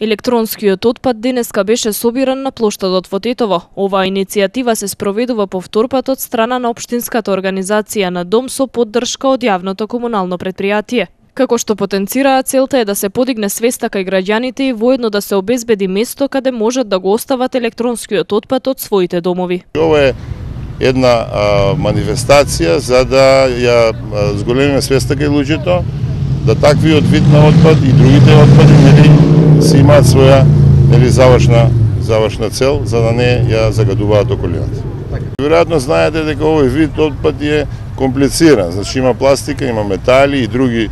Електронскиот отпад денеска беше собиран на плоштадот во Тетово. Оваа иницијатива се спроведува по втор пат од страна на општинската организација на Дом со поддршка од јавното комунално претпријатие. Како што потенцираа, целта е да се подигне свеста кај граѓаните и воедно да се обезбеди место каде можат да го остават електронскиот отпад од своите домови. Ова е една манифестација за да ја зголемиме свеста кај луѓето, да таквиот вид на отпад и другите отпади си имаат своја завршна цел, за да не ја загадуваат околината. Веројатно знаете дека овој вид отпад е комплициран, значи има пластика, има метали и други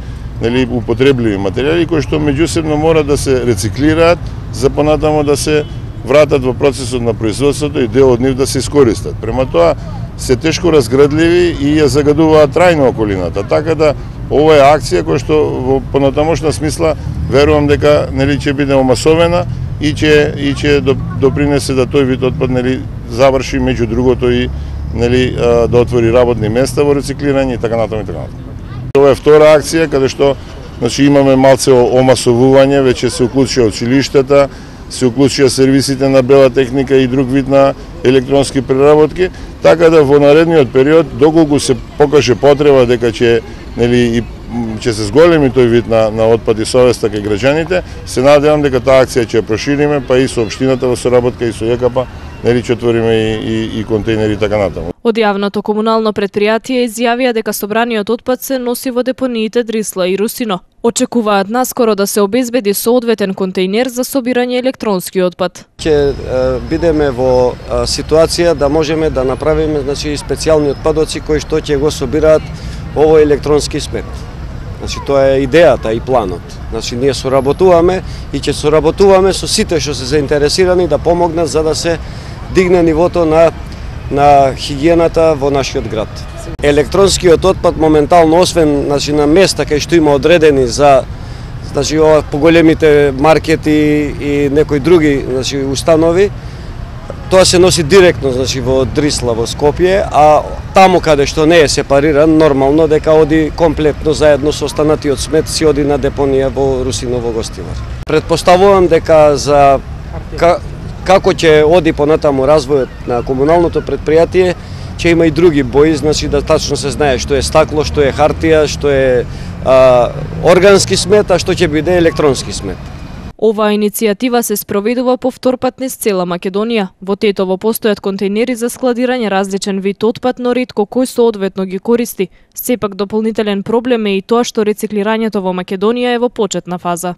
употребливи материјали кои што меѓусебно мора да се рециклираат за понатамо да се вратат во процесот на производството и дел од нив да се искористат. Према тоа се тешко разградливи и ја загадуваат трајно околината, така да ова е акција која што во понатамошна смисла верувам дека ќе биде омасовена и ќе допринесе да тој вид отпад заврши меѓу другото и да отвори работни места во рециклирање и така натаму и така натаму. Ова е втора акција каде што имаме малце омасовување, веќе се уклучија училиштата, се уклучија сервисите на бела техника и друг вид на електронски преработки, така да во наредниот период, доколку се покаже потреба дека ќе се зголеми тој вид на отпад и совеста кај граѓаните, се надевам дека таа акција ќе ја прошириме, па и со општината во соработка и со ЈКП, ќе отвориме и контејнери така натаму. Од јавното комунално претпријатие изјавија дека собраниот отпад се носи во депониите Дрисла и Русино. Очекуваат наскоро да се обезбеди соодветен контејнер за собирање електронски отпад. Ќе бидеме во ситуација да можеме да направиме специјални отпадоци кои што ќе го собираат овој електронски смет. Тоа е идејата и планот. Ние соработуваме и ќе соработуваме со сите што се заинтересирани да помогнат за да се дигне нивото на хигиената во нашиот град. Електронскиот отпад моментално, освен на места кај што има одредени за поголемите маркети и некои други установи, тоа се носи директно во Дрисла, во Скопје, а таму каде што не е сепариран, нормално дека оди комплетно заедно со останатиот смет си оди на депонија во Русино во Гостивар. Предпоставувам дека како ќе оди понатаму развојот на комуналното претпријатие, ќе има и други бои, да тачно се знае што е стакло, што е хартија, што е органски смет, а што ќе биде електронски смет. Оваа иницијатива се спроведува по втор пат низ цела Македонија. Во Тетово постојат контејнери за складирање различен вид отпад, но ретко кој соодветно ги користи. Сепак дополнителен проблем е и тоа што рециклирањето во Македонија е во почетна фаза.